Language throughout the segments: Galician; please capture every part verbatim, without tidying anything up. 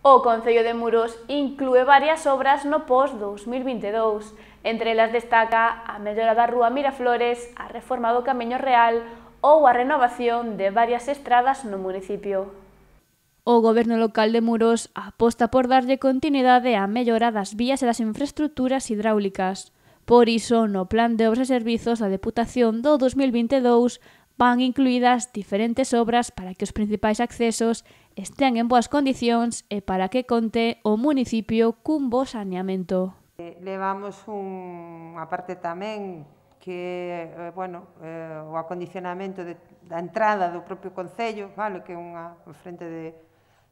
O Concello de Muros inclúe varias obras no pós dous mil vinte e dous. Entre elas destaca a mellora da rúa Miraflores, a reforma do Camiño Real ou a renovación de varias estradas no municipio. O Goberno local de Muros aposta por darlle continuidade á mellora das vías e das infraestructuras hidráulicas. Por iso, no Plan de Obras e Servizos da Deputación do dos mil vinte e dous van incluídas diferentes obras para que os principais accesos estean en boas condicións e para que conte o municipio cun bo saneamento. Levamos unha parte tamén que é, bueno, eh, o acondicionamento de, da entrada do propio Concello, vale, que é unha frente de,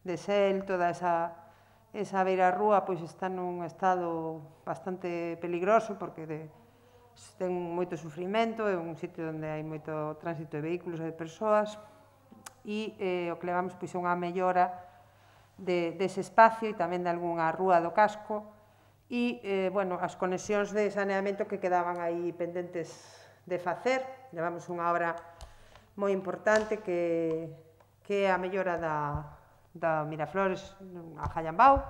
de Sel, toda esa, esa beira rúa pois está nun estado bastante peligroso porque de, ten moito sufrimento, é un sitio onde hai moito tránsito de vehículos e de persoas e eh, o que levamos pois é unha mellora de, dese espacio e tamén de algunha rúa do casco e, eh, bueno, as conexións de saneamento que quedaban aí pendentes de facer. Levamos unha obra moi importante que, que é a mellora da, da Miraflores a Jallambao,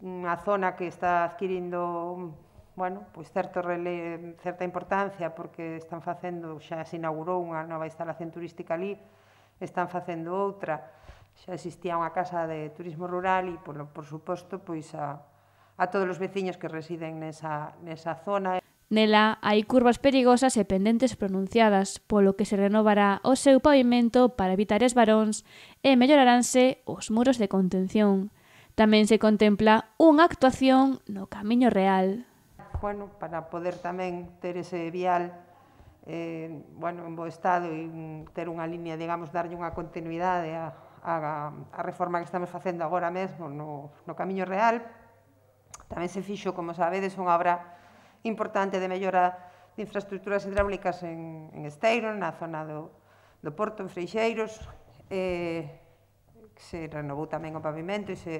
unha zona que está adquirindo bueno, pois certo rele, certa importancia porque están facendo, xa se inaugurou unha nova instalación turística ali, están facendo outra, xa existía unha casa de turismo rural e, por, por suposto, pois a, a todos os veciños que residen nesa, nesa zona. Nela hai curvas perigosas e pendentes pronunciadas, polo que se renovará o seu pavimento para evitar esbaróns e melloraranse os muros de contención. Tamén se contempla unha actuación no Camiño Real. Bueno, para poder tamén ter ese vial eh, bueno, en bo estado e ter unha línea, digamos, darlle unha continuidade a, a, a reforma que estamos facendo agora mesmo no, no Camiño Real. Tamén se fixo, como sabedes, unha obra importante de mellora de infraestructuras hidráulicas en, en Esteiro, na zona do, do Porto, en Freixeiros, eh, que se renovou tamén o pavimento e se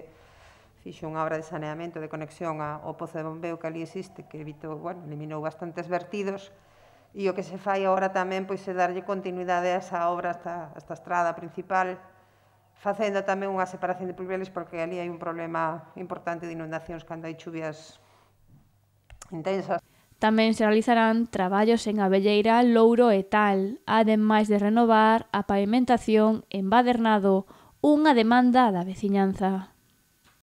fixo unha obra de saneamento de conexión ao pozo de bombeo que ali existe, que evitou, bueno, eliminou bastantes vertidos, e o que se fai agora tamén pois, é darlle continuidade a esa obra, a esta estrada principal, facendo tamén unha separación de pluviales, porque ali hai un problema importante de inundacións cando hai chuvias intensas. Tamén se realizarán traballos en Abelleira, Louro e Tal, ademais de renovar a pavimentación en Badernado, unha demanda da veciñanza.